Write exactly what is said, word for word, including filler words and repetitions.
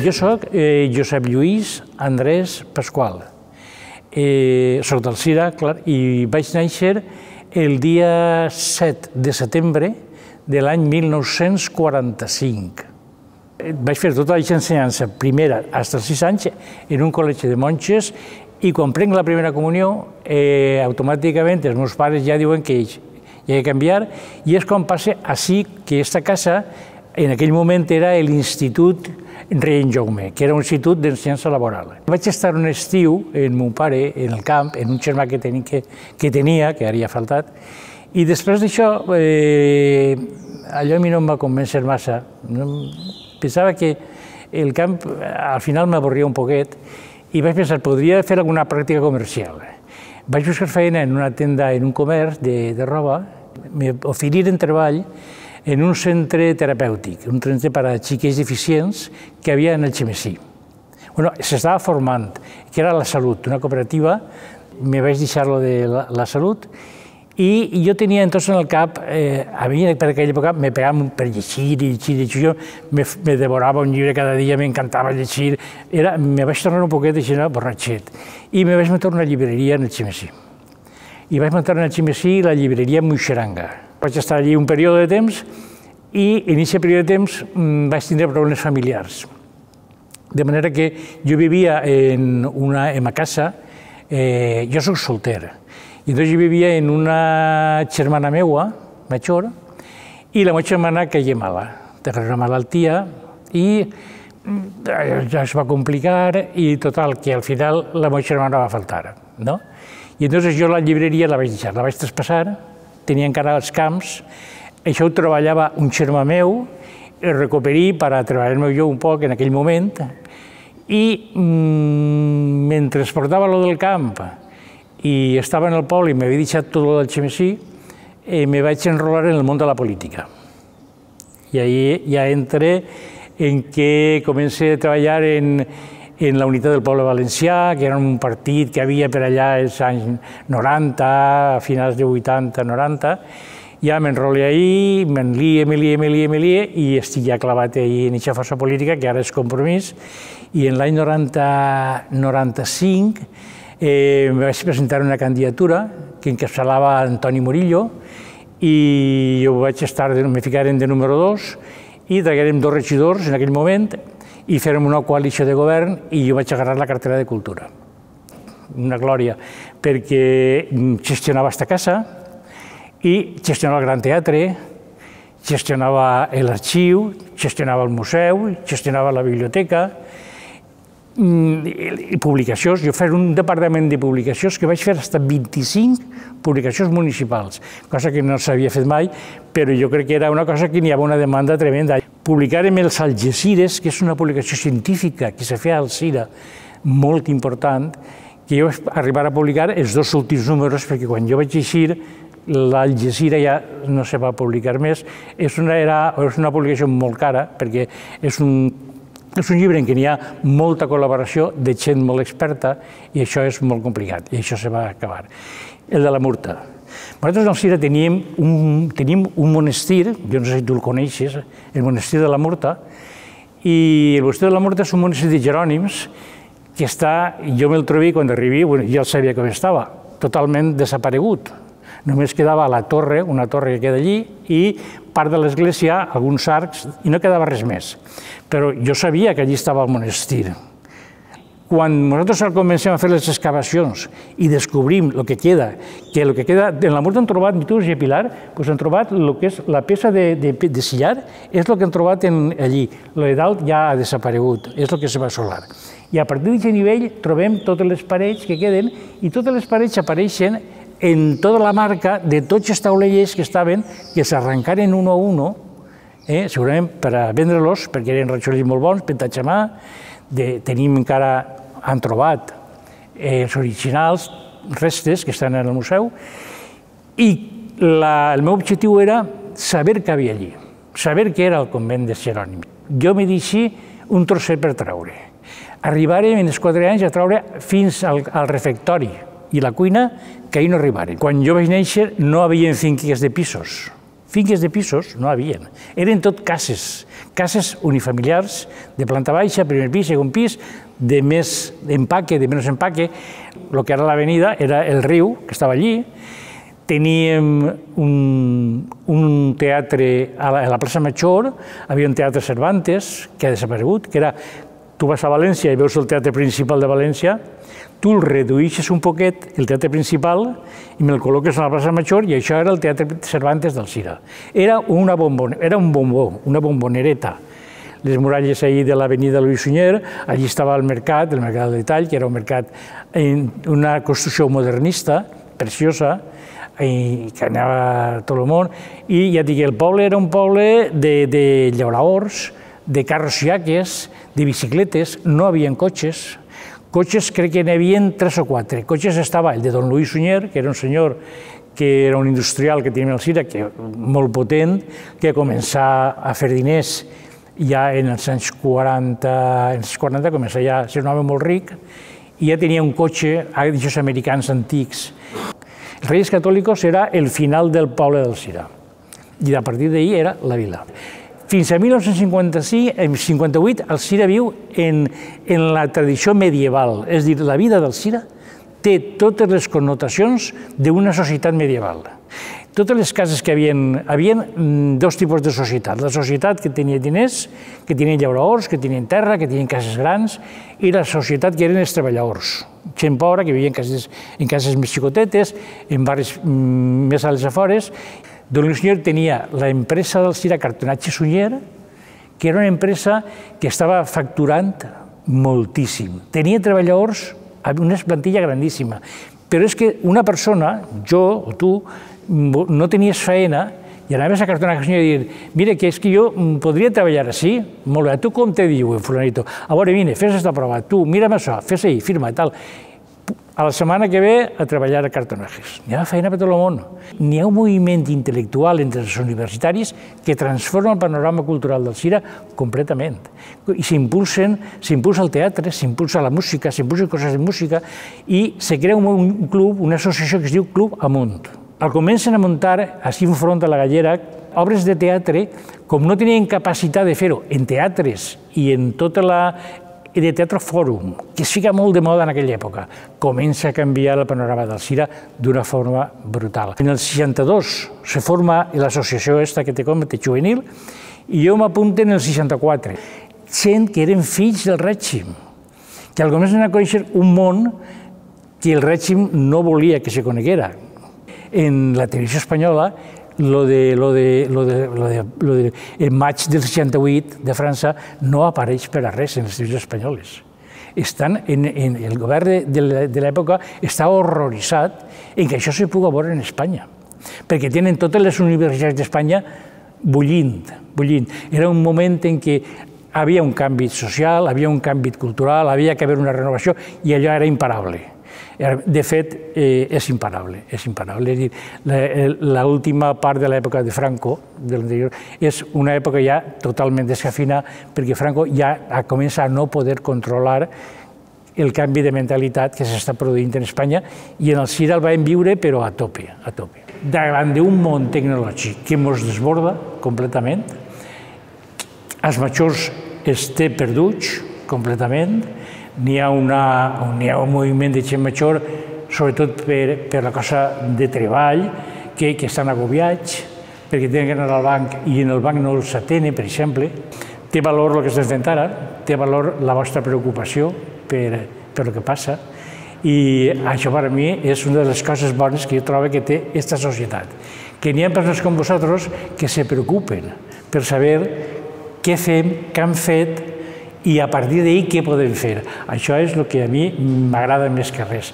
Jo soc eh, Josep Lluís Andrés Pasqual. Eh, soc d'Alzira, clar, i vaig néixer el dia set de setembre de l'any mil nou-cents quaranta-cinc. Vaig fer tota la ensenyança primera fins als sis anys en un col·legi de monges i quan prenc la primera comunió, eh, automàticament els meus pares ja diuen que hi ha de canviar i és quan passa així que aquesta casa en aquell moment era l'Institut Rei en Jaume, que era un institut d'ensenyança laboral. Vaig estar un estiu amb mon pare en el camp, en un germà que, teni, que, que tenia, que ara ja ha faltat, i després d'això, eh, allò a mi no em va convèncer massa. Pensava que el camp al final m'avorria un poquet i vaig pensar, podria fer alguna pràctica comercial. Vaig buscar feina en una tenda, en un comerç de, de roba, m'oferiren treball en un centre terapèutic, un centre per a xiquets deficients que hi havia en el Xemesí. Bueno, s'estava formant, que era la Salut, una cooperativa, me vaig deixar-lo de la, la Salut, i jo tenia entonces en el cap, eh, a mi per aquella època me pegava per llegir i llegir, llegir, jo me, me devorava un llibre cada dia, m'encantava llegir, era, me vaig tornar un poquet així, no, borratxet, i me vaig muntar una llibreria en el Xemesí. I vaig muntar en el Xemesí la llibreria Muixeranga. Vaig estar allí un període de temps i en aquest període de temps vaig tindre problemes familiars. De manera que jo vivia en una, en una casa, eh, jo soc solter, i doncs jo vivia en una germana meua, major, i la meva germana caia mala, tenia una malaltia, i ja es va complicar, i total, que al final la meva germana va faltar, no? I llavors jo la llibreria la vaig deixar, la vaig traspassar, tenia encara els camps, això ho treballava un germà meu, el recuperí per a treballar-me jo un poc en aquell moment, i mmm, mentre portava lo del camp i estava en el poble i m'havia deixat tot el Xemesí, eh, me vaig enrolar en el món de la política. I ahí ja entré en què comencé a treballar en en la Unitat del Poble Valencià, que era un partit que havia per allà els anys noranta, a finals de vuitanta, noranta, ja m'enrolé ahí, m'enlie, m'enlie, m'enlie, m'enlie, i estic ja clavat ahí en aquesta força política, que ara és Compromís, i en l'any noranta, noranta-cinc eh, me vaig presentar una candidatura que encapçalava Antoni Murillo, i jo vaig estar, me ficaren de número dos, i traguérem dos regidors en aquell moment, i fèrem una coalició de govern i jo vaig agarrar la cartera de Cultura. Una glòria, perquè gestionava aquesta casa i gestionava el Gran Teatre, gestionava l'arxiu, gestionava el museu, gestionava la biblioteca i publicacions. Jo feia un departament de publicacions que vaig fer fins a vint-i-cinc publicacions municipals, cosa que no s'havia fet mai, però jo crec que era una cosa que n'hi havia una demanda tremenda. Publicàrem els Algesires, que és una publicació científica que se feia a Alzira, molt important, que jo vaig arribar a publicar els dos últims números, perquè quan jo vaig eixir, l'Algesira ja no se va publicar més. És una, era, és una publicació molt cara, perquè és un, és un llibre en què n'hi ha molta col·laboració de gent molt experta, i això és molt complicat, i això se va acabar. El de la Murta. Nosaltres a Alzira teníem un, teníem un monestir, jo no sé si tu el coneixes, el monestir de la Murta, i el monestir de la Murta és un monestir de Jerònims que està, jo me'l trobé quan arribi, bueno, ja el sabia com estava, totalment desaparegut. Només quedava la torre, una torre que queda allí, i part de l'església, alguns arcs, i no quedava res més. Però jo sabia que allí estava el monestir. Quan nosaltres comencem a fer les excavacions i descobrim el que queda, que el que queda, en la Murta han trobat, i tu, Pilar, doncs han trobat el que és la peça de, de, de sillar, és el que han trobat en, allí. El de dalt ja ha desaparegut, és el que se va assolar. I a partir d'aquest nivell trobem totes les parets que queden i totes les parets apareixen en tota la marca de tots els taulellers que estaven, que s'arrencaren un a un, eh, segurament per a vendre-los, perquè eren ratxolers molt bons, pentats a mà, de, tenim encara, han trobat eh, els originals, restes que estan en el museu, i la, el meu objectiu era saber què havia allí, saber què era el convent de Jerònim. Jo me deixi un trosset per treure. Arribarem en els quatre anys a treure fins al, al refectori i la cuina, que ahir no arribaren. Quan jo vaig néixer no hi havia finques de pisos. Finques de pisos no hi havia. Eren tot cases, cases unifamiliars de planta baixa, primer pis, segon pis, de més empaque, de menys empaque. El que era l'avenida era el riu, que estava allí. Teníem un, un teatre a la, a la plaça Major, havia un teatre Cervantes, que ha desaparegut, que era, tu vas a València i veus el teatre principal de València, tu el reduïxes un poquet, el teatre principal, i me'l col·loques a la plaça Major, i això era el teatre Cervantes d'Alzira. Era, una bombon, era un bombó, una bombonereta. Les muralles ahir de l'avenida Louis Sunyer, allí estava el mercat, el mercat del detall, que era un mercat, una construcció modernista, preciosa, i que anava a tot el món, i ja dic, el poble era un poble de, de llauraors, de carros iaques, de bicicletes, no havia cotxes. Cotxes crec que n'hi havia tres o quatre. Cotxes estava el de don Louis Sunyer, que era un senyor que era un industrial que tenia Alzira, que molt potent, que començà a fer diners ja en els anys quaranta, en els quaranta començà ja a ser un home molt ric, i ja tenia un cotxe d'aquests americans antics. Els Reis Catòlicos era el final del poble d'Alzira, i a partir d'ahir era la vila. Fins a mil nou-cents cinquanta-vuit, Alzira viu en, en la tradició medieval, és a dir, la vida d'Alzira té totes les connotacions d'una societat medieval. Totes les cases que hi havia, havia dos tipus de societat. La societat que tenia diners, que tenien llauraors, que tenien terra, que tenien cases grans, i la societat que eren els treballadors. Gent pobra que vivia en cases, en cases més xicotetes, en barris més a les afores. Don Louis Sunyer tenia l'empresa d'Alzira Cartonatge Sunyer, que era una empresa que estava facturant moltíssim. Tenia treballadors, una plantilla grandíssima, però és que una persona, jo o tu, no tenies feina i anaves a Cartonatge Sunyer i dir, mira, que és que jo podria treballar així, molt bé, tu com te diu, fulanito? A veure, vine, fes esta prova, tu, mira'm això, fes ahí, firma, tal. A la setmana que ve a treballar a Cartonatges. N'hi ha feina per tot el món. N'hi ha un moviment intel·lectual entre els universitaris que transforma el panorama cultural d'Alzira completament. I s'impulsa el teatre, s'impulsa la música, s'impulsen coses de música i se crea un club, una associació que es diu Club Amunt. Al comencen a muntar, així enfront a la Gallera, obres de teatre, com no tenien capacitat de fer-ho en teatres i en tota la de Teatre Fòrum, que es fica molt de moda en aquella època, comença a canviar el panorama d'Alzira d'una forma brutal. En el seixanta-dos se forma l'associació esta que te comento, juvenil, i jo m'apunto en el seixanta-quatre. Gent que eren fills del règim, que comencen a conèixer un món que el règim no volia que se coneguera. En la televisió espanyola, lo de, lo de, lo de, lo de, lo de, el maig del seixanta-vuit de França no apareix per a res en les televisions espanyoles. Estan en, en el govern de, de l'època està horroritzat en que això se pugui veure en Espanya, perquè tenen totes les universitats d'Espanya bullint, bullint. Era un moment en què havia un canvi social, havia un canvi cultural, havia que haver una renovació i allò era imparable. De fet, eh, és imparable, és imparable. És dir, l'última part de l'època de Franco, de l'anterior, és una època ja totalment descafina, perquè Franco ja comença a no poder controlar el canvi de mentalitat que s'està produint en Espanya i en Alzira el vam viure, però a tope, a tope. Davant d'un món tecnològic que ens desborda completament, els majors es té perduts completament, n'hi ha un moviment de gent major, sobretot per la cosa de treball, que estan agobiats, perquè tenen que anar al banc i en el banc no els atenen, per exemple. Té valor el que estem fent ara, té valor la vostra preocupació per el que passa, i això per a mi és una de les coses bones que jo trobo que té aquesta societat. Que n'hi ha persones com vosaltres que se preocupen per saber què fem, què han fet, i a partir d'ahir què podem fer. Això és el que a mi m'agrada més que res.